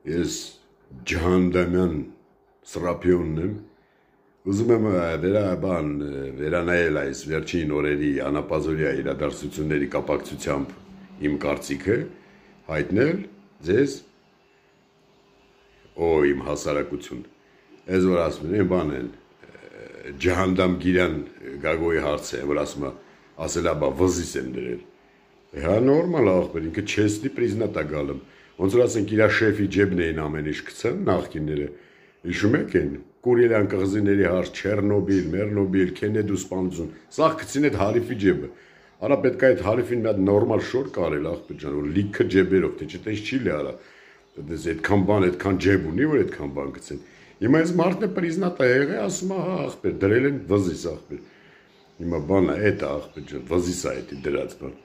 Ես ջհանդամյան Սրափիոնն եմ, ուզում եմ վերանայել այս վերջին օրերի անապազորյա իրադարձությունների կապակցությամբ իմ կարծիքը, հայտնել ձեզ իմ հասարակություն, ես որ ասում են բան են, ջհանդամ գիրան գագոյի հարց է, որ ասել աբա վզիս եմ դրել, հա նորմալ աղբեր, ինքը չեսնի պրիզնատ է գալում, ոնց որ ասենք իրա շեֆի ջեբն էին ամեն ինչ գցան նախկինները, հիշում եք են, Կուրիլյան կղզիների հարց, Չեռնոբիլ, Մեռնոբիլ, Քենեդու սպանություն, սաղ գցին այդ հարիֆի ջեբը, արա պետք է այդ հարիֆին մի հատ նորմալ շոր կարել աղբեր ջան, որ լիքը ջեբերով, թե չէ տես չի լի արա, այդքան բան, այդքան ջեբ ունի, որ այդքան բան գցեն, հիմա այս մարդն է պրիզնատ է եղել, ասում է հա աղբեր, դրել են վզիս աղբեր, հիմա բանը էդ է աղբեր ջան, վզիս է էդի դրած բան,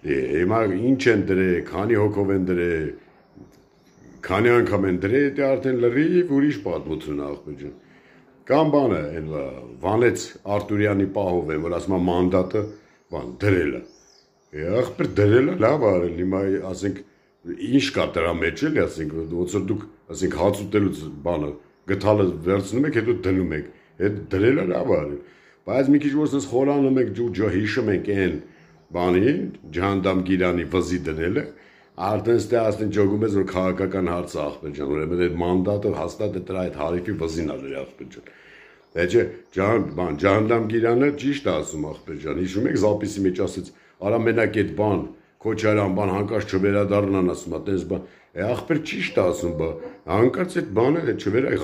հիմա ինչ են դրել, քանի հոգով են դրել, քանի անգամ են դրել, դա արդեն լրիվ ուրիշ պատմություն է աղբեր ջան, կամ բանը վանեց Արտուրյանի պահով են, որ ասում է մանդատը բան դրել է, աղբեր դրել է լավ արել, հիմա ասենք ինչ կա դրա մեջ էլի, ասենք ոնց որ դուք ասենք հաց ուտելուց բանը գթալը վերցնում եք, հետո դնում եք, այդ դրել է լավ արել, բայց մի քիչ որ ասես խորանում եք հիշում ենք այն բանին, ջհանդամ գիրանի վզի դնելը, արդեն ստե ասեն ճոգում ես որ քաղաքական հարց է աղբեր ջան, ուրեմն այդ մանդատը հաստատ է դրա այդ հարիֆի վզին ալեր աղբեր ջան, չէ, ջհանդամ գիրանը ճիշտ է ասում աղբեր ջան, հիշում եք զապիսի մեջ ասեց, արա մենակ այդ բան, Քոչարյան բան հանկարծ չվերադառնան ասում է, տես բան, աղբեր ճիշտ է ասում, հանկարծ այդ բանը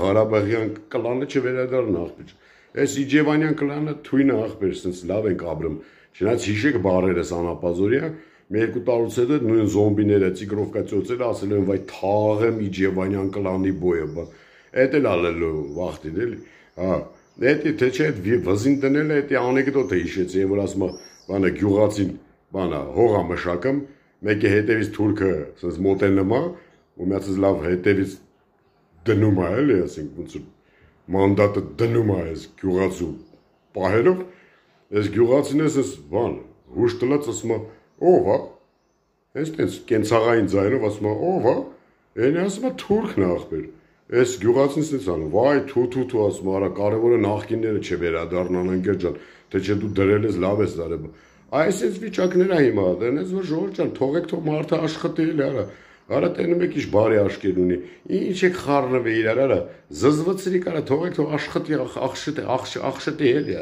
Ղարաբաղյան կլանը չվերադառնա աղբեր ջան, այս Իջևանյան կլանը թույնը աղբեր, սենց լավ ենք ապրում, չնայած հիշեք բառերս անապազորյա, մի երկու տարուց հետո նույն զոմբիները, ծիկրովկա ծոցերը ասել են, վայ թաղեմ Իջևանյան կլանի բոյը, էդ էլ ալելու վախտին էլի, հա, էդի թե չէ այդ վզին դնել է, էդի անեկդոտ է հիշեցի, որ ասում է, բանը գյուղացին, բանը հողա մշակում, մեկի հետևից թուրքը սենց մոտենում է, ու միացած լավ հետևից դնում է, էլի, ասենք, ոնց որ մանդատը դնում է այս գյուղացու պահերով, այս գյուղացին ես ես բան, հուշ տլած ասում է, ով է, ես տենց կենցաղային ձայնով ասում է, ով է, ենի ասում է թուրքն աղբեր, այս գյուղացին սենց անում, վայ թու ասում է, արա կարևորը նախկինները չվերադառնան ընկեր ջան, թե չէ դու դրել ես լավ ես դարել, այս ես վիճակներ է հիմա, դենես որ ժողովուրդ ջան, թողեք թող մարդը աշխատի էլի արա, արա տենում եք ինչ բարի աշկեր ունի, ինչ եք խառնվի իրար, արա, զզվծրիկ արա, թողեք թող աշխատի, աղշտի էլի,